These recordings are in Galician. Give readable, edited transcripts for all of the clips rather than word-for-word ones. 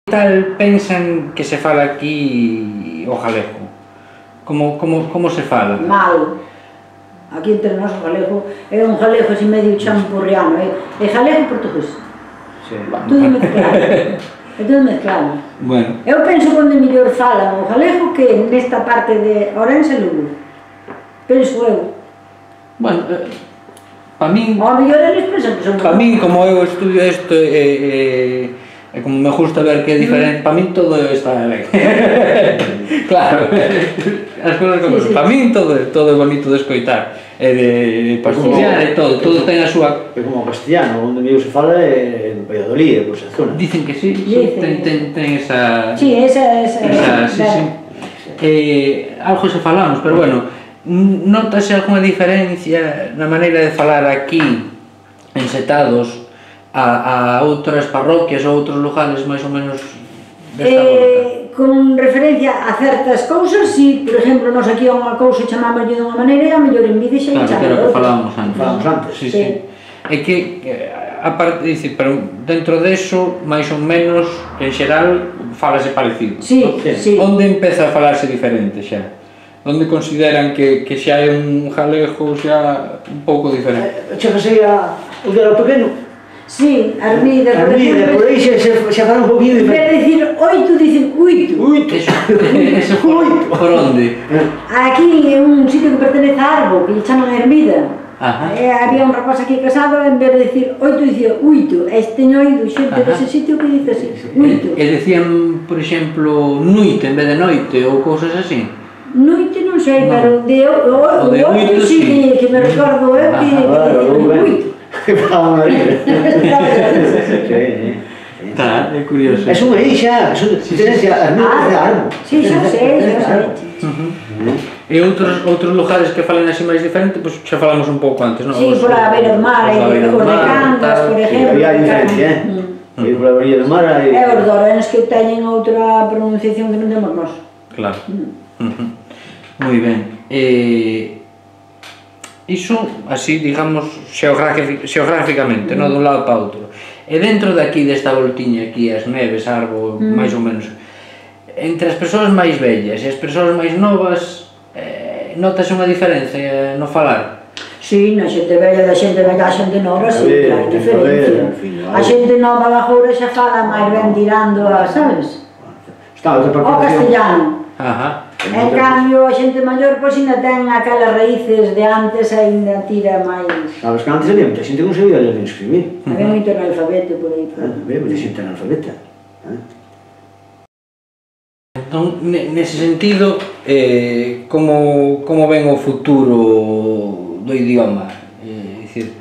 Tal pensan que se fala aquí o galego? Como se fala? Mal. Aquí entre nós o galego é un galego así medio champurriano, é galego e portugués. Todo mezclado. É todo mezclado. Bueno. Eu penso onde mellor falan o galego que nesta parte de Ourense e Lugo. Penso eu. Bueno, para min... O mellor eles pensan que son... Para min, como eu estudio isto e como me gusta ver que é diferente, para min todo está ben. Claro, as cousas como son. Para min todo é bonito de escoitar, e de pastorear e todo ten a súa... É como o castellano, onde mellor se fala é en Valladolid, por esa zona. Dicen que sí, ten esa... Sí, esa... Algo se falamos, pero bueno, notase algunha diferencia na maneira de falar aquí, en Setados, a outras parroquias ou outros lugares máis ou menos desta volta? Con referencia a certas cousas, si, por exemplo, nos aquí a unha cousa chamámoslle dunha maneira e a mellor en vídeo xa claro, que era o que falábamos antes. Sí. É que, aparte, dicir, pero dentro deso, máis ou menos, en xeral, falase parecido. Sí. Onde empeza a falarse diferente xa? Onde consideran que xa é un galego xa un pouco diferente? Chegase o de lo pequeno. Sí, Armida, por aí xa fala un poquinho diferente. En vez de dicir oito, dicen uito. Eso por onde? Aquí é un sitio que pertenece a Arbo, que lle chaman Ermida. Había un rapaz aquí casado, en vez de dicir oito, dicía uito. Teño oído xente dese sitio que dice así, uito. E decían, por exemplo, nuite en vez de noite ou cousas así? Noite non sei, pero de oito sí que me recordo eu que dicen uito. Que fala unha vida. Está, é curioso. É unha ixa, tenes as mitas de Arbo. Sí, xa sei. E outros lugares que falan así máis diferente, pois xa falamos un pouco antes, non? Sí, por a beira do mar, os de Cangas, por exemplo. Había diferencia, ir por a beira do mar e... E os dorenes que teñen outra pronunciación que non temos nós. Claro. Moi ben. Iso, así, digamos, xeográficamente, non dun lado para outro. E dentro daqui, desta voltiña aquí, as Neves, Arbo, máis ou menos, entre as persoas máis vellas e as persoas máis novas, notase unha diferencia no falar? Sí, na xente vella da xente vella a xente nova, sí, hai diferencia. A xente nova da agora xa fala máis ben tirando a, sabes? O castellano. En cambio, a xente maior, pois, ainda ten aquelas raíces de antes, ainda tira máis... Sabes que antes había moita xente que non sabía ler nin escribir. Había moito analfabeto por aí. Había moita xente analfabeta. Entón, nese sentido, como ven o futuro do idioma? É dicir,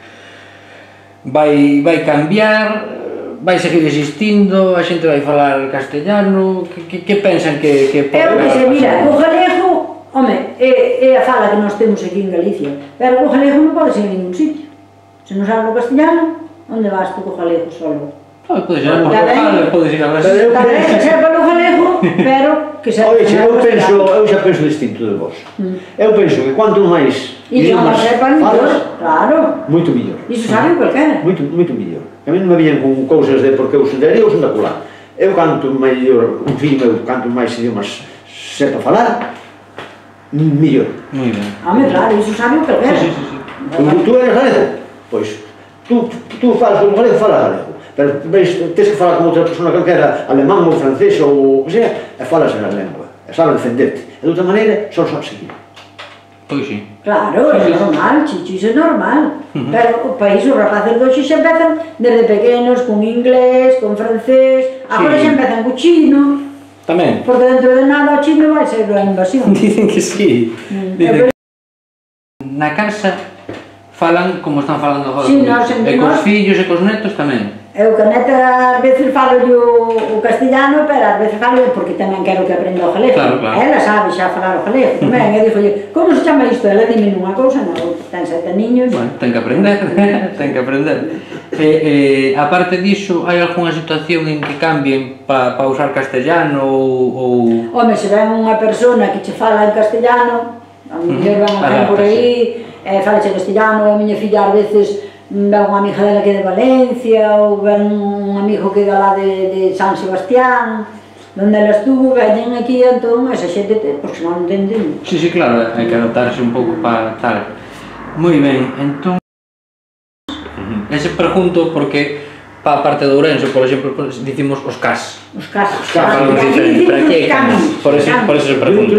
vai cambiar? Vai seguir existindo, a xente vai falar castellano, que pensan que pode... Eu que sei, mira, o galego, home, é a fala que nós temos aquí en Galicia, pero o galego non pode ser en ningún sitio. Se non sabe o castellano, onde vas tú co galego solo? Podes ir a Portugal, podes ir a Brasil... Tamén que sepa o galego, pero que sepa... Oye, eu xa penso distinto de vos. Eu penso que cuanto máis idiomas falas, claro, moito millor. Iso sabe cualquera. Moito millor. A mí non me viñen con cousas de porque eu son de ali ou son da colá. Eu canto mellor, un filho meu, canto máis idiomas sepa falar, mellor. Moi ben. Home, claro, iso sabe cualquera. Sí. Tú eres galego? Pois, tú falas como galego, falas galego. Pero tens que falar con outra persona que era alemán ou francés ou o que sea, e falas en a lengua, e sabes defenderte. E de outra maneira, só sabes seguir. Pois sí. Claro, é normal, chicho, iso é normal. Pero o país, os rapaces doxe xa empezan desde pequenos con inglés, con francés, agora xa empezan co chino. Tamén. Porque dentro de nada o chino vai ser a invasión. Dicen que sí. Na casa falan como están falando agora. E cos fillos e cos netos tamén. Eu que a neta ás veces falo o castellano, pero ás veces falo porque tamén quero que aprenda o galego. Ela sabe xa falar o galego tamén, e dixolle, como se chama isto? Ela dime nunha cousa, non, ten 7 niños. Bueno, ten que aprender, ten que aprender. Aparte diso, hai algunha situación en que cambien para usar castellano ou... Home, se ven unha persona que che fala en castellano, a muller van a por aí, falache castellano, a miña filla ás veces ven unha amiga dela que é de Valencia, ou ven un amigo que é lá de San Sebastián, donde ela estuvo, veñen aquí, entón, esa xente, porque non entenden. Sí, sí, claro, hai que adaptarse un pouco para tal. Moi ben, entón... Ese pregunto porque para a parte de Ourense, por exemplo, dicimos os cas. Os cas. Falamos diferente, pero aquí hai camis. Por eso se pregunta.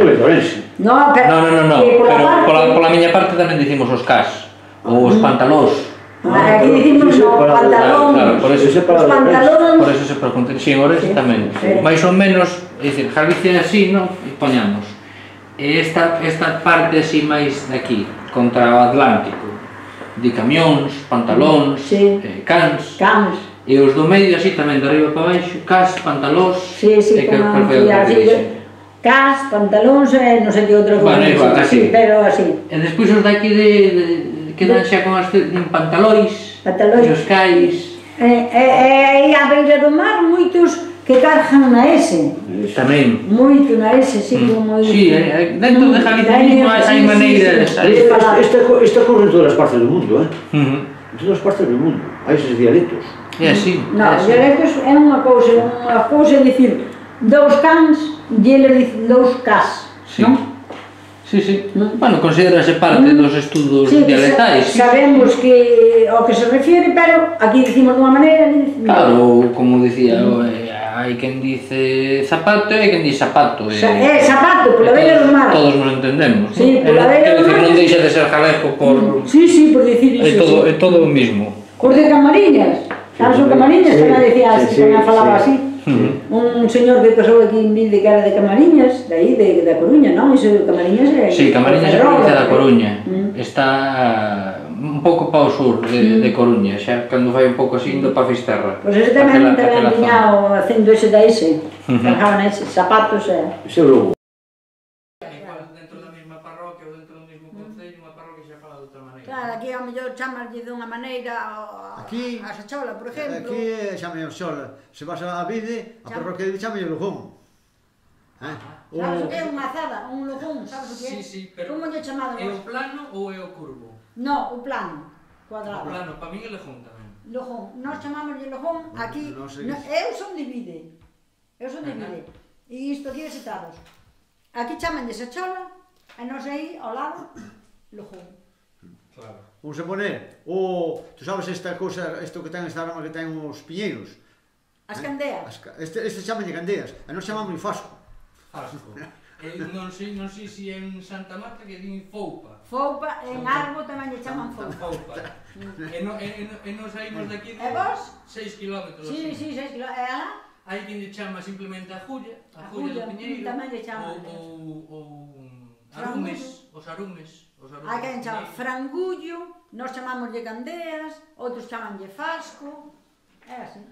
No, pero pola miña parte tamén dicimos os cas. Ou os pantalós. Aquí dicimos o pantalón. Claro, por eso os pantalóns. Por eso se pregunta. Si, en Ourense tamén. Mais ou menos, é dicir, Galicia así, non? E poñamos. Esta parte así máis daqui, contra o Atlántico, de camións, pantalóns, cans. E os do medio así tamén, de arriba para baixo, cas, pantalós, como cas, pantalóns, non sei que outra cousa, pero así. E despois os daqui quedan xa con as pantalóis, os cais. E a beira do mar, moitos que cargan na S. Tamén. Moito na S, sí, como... Sí, dentro de Galicia mismo hai maneiras... Isto ocorre en todas as partes do mundo, En todas as partes do mundo, hai eses dialectos. É así. Non, os dialectos é unha cousa é dicir dous cans e eles dicen dous cas, non? Sí, sí. Bueno, considerase parte dos estudos dialectais. Sabemos que ao que se refiere, pero aquí dicimos dunha maneira, ali dicimos... Claro, como dicía, hai quen dice zapato e hai quen dice zapato. Zapato, pola beira do mar. Todos nos entendemos. Sí, pola beira do mar. Non deixa de ser galego por... Sí, por dicir iso. É todo o mismo. Os de Camariñas. Sabes o Camariñas? Tamén decía así, tamén falaba así. Un señor que casou aquí en Vide que era de Camariñas, de aí, da Coruña, non? Iso de Camariñas é... Sí, Camariñas é a provincia da Coruña. Está un pouco para o sur de Coruña, xa cando vai un pouco así indo para Fisterra. Pois ese tamén tiña o acento ese da ese, cargaban ese, zapatos e... Ese é o logo. Dentro da mesma parroquia ou dentro do mesmo concello, unha parroquia xa fala de outra maneira. Claro, aquí ao mellor chamarlle dunha maneira a Sachola, por exemplo. Aquí chame o Xola. Se vas a Vide, a parroquia de chame o Lujón. Sabes o que é unha azada, un lujón, sabes o que é? Sí, pero... Como lle chamado? É o plano ou é o curvo? No, o plano, cuadrado. O plano, para mí é lejón tamén. Lojón, nós chamámoslle lojón, aquí... Eu son de Vide. Eu son de Vide. E isto aquí é Setados. Aquí chamanlle Sachola, e nós aí, ao lado, lojón. Claro. Vamos a poner, tú sabes esta cousa, isto que ten esta arma que ten os piñeiros? As candeas. Este chamanlle candeas, e nós chamamos fasco. Fasco. Non sei se é en Santa Marta que din foupa. Foupa, en Arbo tamén lle chaman foupa. E nos saímos daqui de 6 kilómetros. Sí, 6 kilómetros. E alá? Hai quen lle chama simplemente a Julla do Piñeiro. Tamén lle chaman. Ou arumes, os arumes. Hai quen chama frangullo, nós chamámoslle candeas, outros chamanlle fasco. É así.